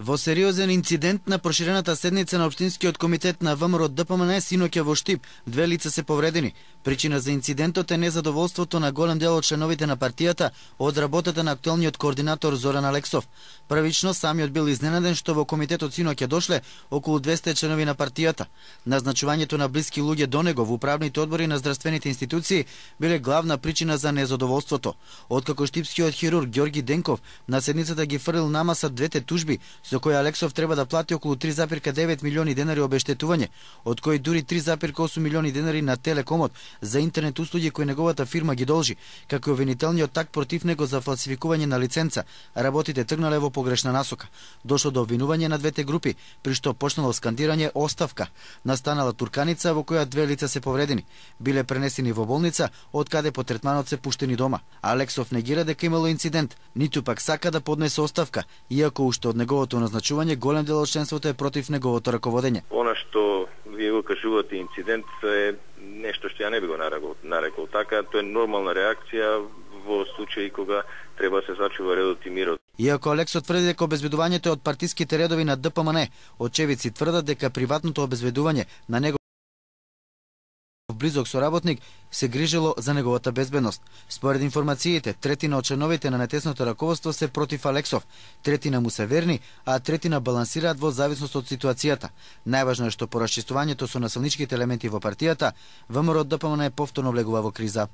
Во сериозен инцидент на проширената седница на Општинскиот комитет на ВМРО ДПМН синоќа во Штип, 2 лица се повредени. Причина за инцидентот е незадоволството на голем дел од членовите на партијата од работата на актуелниот координатор Зоран Алексов. Првично самиот бил изненаден што во комитетот синоќа дошле околу 200 членови на партијата. Назначувањето на блиски луѓе до него во управните одбори на здравствените институции биле главна причина за незадоволството. Откако штипскиот хирург Ѓорги Денков на седницата ги фрлил на маса двете тужби со кои Алексов треба да плати околу 3,9 милиони денари обештетување, од кои дури 3,8 милиони денари на Телекомот за интернет услуги кои неговата фирма ги должи, како и обвинителниот так против него за фалсификување на лиценца, работите тргнале во погрешна насока. Дошло до обвинување на двете групи, при што почнало скандирање оставка. Настанала турканица во која 2 лица се повредени. Биле пренесени во болница, од каде по третманот се пуштени дома. Алексов негира дека имало инцидент, ниту пак сака да поднесе оставка, иако уште од неговото назначување голем дел од членството е против неговото раководење. Она што вие го кажувате инцидент е нешто што ја не би го нарекол така, тоа е нормална реакција во случаи кога треба се зачува редот и мирот. Иако Алексов тврди дека обезбедувањето е од партиските редови на ДПМН, очевидци тврдат дека приватното обезбедување на него близок соработник се грижело за неговата безбедност. Според информациите, третина од членовите на нетесното раководство се против Алексов, третина му се верни, а третина балансираат во зависност од ситуацијата. Најважно е што по расчистувањето со насилничките елементи во партијата, ВМРО ДПМН повторно влегува во криза.